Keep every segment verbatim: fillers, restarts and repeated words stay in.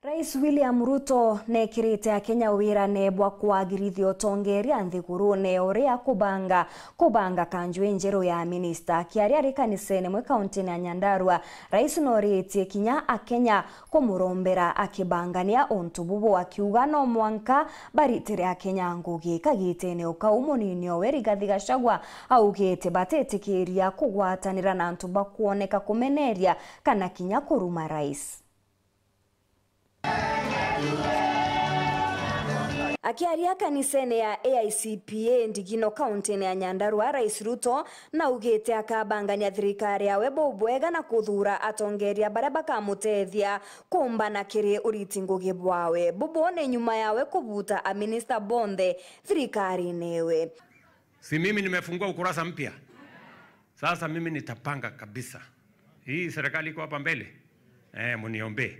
Rais William Ruto nekirite Akenya wirane bwa kwagirithia utongeria nthigurune uria kubanga, kubanga kanju injeru ya minista. Akiaria ari kanisene imwe kauntine ya Nyandarua, Rais noritie kinya Akenya kumurombera akibangania untu bubu, akiuga no mwanka baritire Akenya ngugi. Kagitene o kau, munini owe Rigathi Gachagua augite batitikiria kugwatanira na antu bakwoneka kumeneria kana kinya kuruma Rais. Akiaria kanisene ya A I C P A Ndigino, kauntine ya Nyandarua, Rais Ruto naugite akabangania thirikari yawe bubwega na kuthuura atongeria baria bakamutethia kumbana kiri uriti ngugi bwawe. Bubu ni nyuma yawe kubuta aminista bonthe thirikarine ewe. Si mimi nimefungua ukurasa mpya? Sasa mimi nitapanga kabisa. Hii serikali iko hapa mbele. Eh, mniombee.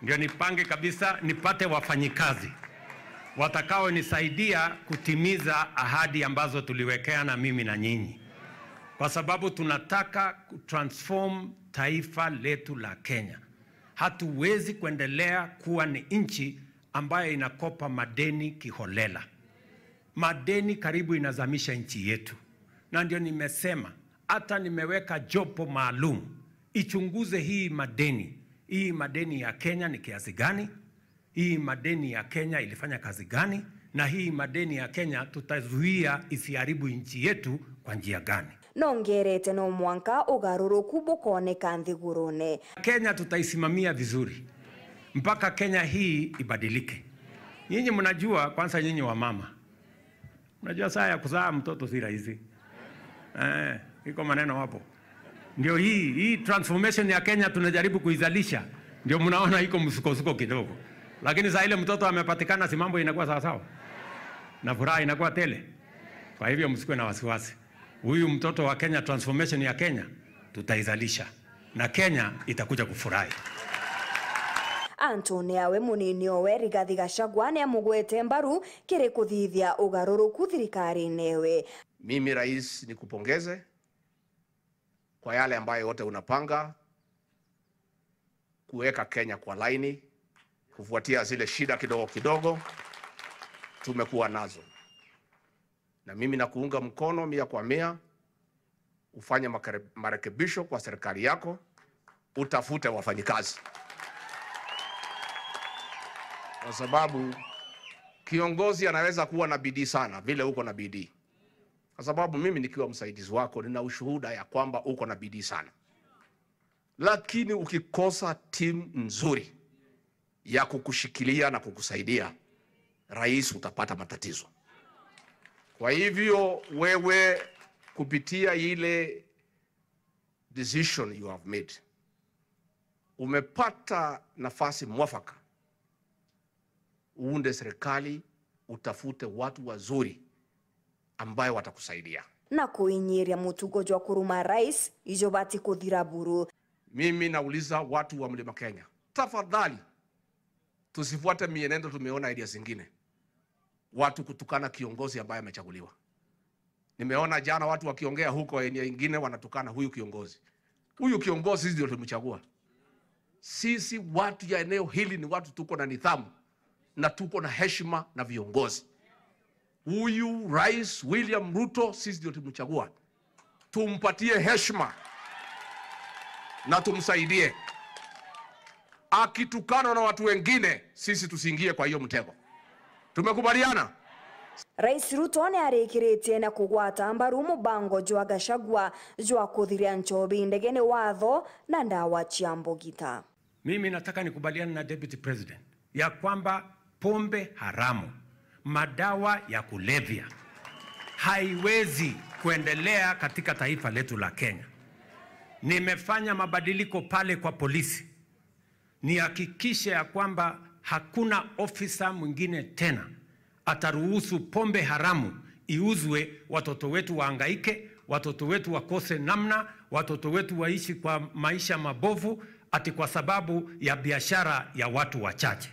Ndio nipange kabisa, nipate wafanyikazi watakaonisaidia kutimiza ahadi ambazo tuliwekeana mimi na nyinyi. Kwa sababu tunataka kutransform taifa letu la Kenya. Hatuwezi kuendelea kuwa ni nchi ambayo inakopa madeni kiholela. Madeni karibu inazamisha nchi yetu. Na ndio nimesema, hata nimeweka jopo maalum ichunguze hii madeni. Hii madeni ya Kenya ni kiasi gani? Hii madeni ya Kenya ilifanya kazi gani? Na hii madeni ya Kenya tutazuia isiharibu nchi yetu kwa njia gani? Nongerete no mwanka ugaruruku bukoneka nthigurune. Kenya tutaisimamia vizuri mpaka Kenya hii ibadilike. Nyinyi mnajua, kwanza nyinyi wa mama, unajua saa ya kuzaa mtoto si rahisi. Eh, iko maneno hapo. Ndio hii, hii transformation ya Kenya tunajaribu kuizalisha. Ndio mnaona iko msukosuko kidogo. Lakini saa ile mtoto amepatikana, si mambo inakuwa sawa sawa? Na furaha inakuwa tele. Kwa hivyo msikuwe na wasiwasi. Huyu mtoto wa Kenya, transformation ya Kenya, tutaizalisha. Na Kenya itakuja kufurahi. Antune awe, munini owe Rigathi Gachagua niamugwete mbaru kiri kuthithia ugaruruku thirikarine ewe. Mimi, Rais, nikupongeze kwa yale ambayo yote unapanga kuweka Kenya kwa laini, kufuatia zile shida kidogo kidogo tumekuwa nazo. Na mimi nakuunga mkono mia kwa mia, ufanye makare-, marekebisho kwa serikali yako, utafute wafanyikazi. Kwa sababu kiongozi anaweza kuwa na bidii sana vile uko na bidii. Kwa sababu mimi nikiwa msaidizi wako, nina ushuhuda ya kwamba uko na bidii sana. Lakini ukikosa timu nzuri ya kukushikilia na kukusaidia, rais, utapata matatizo. Kwa hivyo wewe, kupitia ile decision you have made, umepata nafasi mwafaka uunde serikali, utafute watu wazuri ambayo watakusaidia. Na kuinyiria mutugo jwa kuruma rais, ijo bati kuthira buru. Mimi nauliza watu wa Mlima Kenya, tafadhali, tusifuate mienendo tumeona area zingine. Watu kutukana kiongozi ambaye amechaguliwa. Nimeona jana watu wakiongea huko eneo ingine wanatukana huyu kiongozi. Huyu kiongozi sisi ndio tulimchagua. Sisi watu ya eneo hili ni watu tuko na nidhamu na tuko na heshima na viongozi. Huyu Rais William Ruto sisi ndio tulimchagua. Tumpatie heshima na tumsaidie. Akitukanwa na watu wengine, sisi tusiingie kwa hiyo mtego. Tumekubaliana? Rais Ruto niarikiritie na kugwata mbaru mubango jwa Gachagua jwa kuthiria nchobi ndegene watho na ndawa cia mbugita. Mimi nataka nikubaliane na Deputy President ya kwamba pombe haramu, madawa ya kulevya, haiwezi kuendelea katika taifa letu la Kenya. Nimefanya mabadiliko pale kwa polisi, nihakikishe ya kwamba hakuna ofisa mwingine tena ataruhusu pombe haramu iuzwe, watoto wetu wahangaike, watoto wetu wakose namna, watoto wetu waishi kwa maisha mabovu, ati kwa sababu ya biashara ya watu wachache.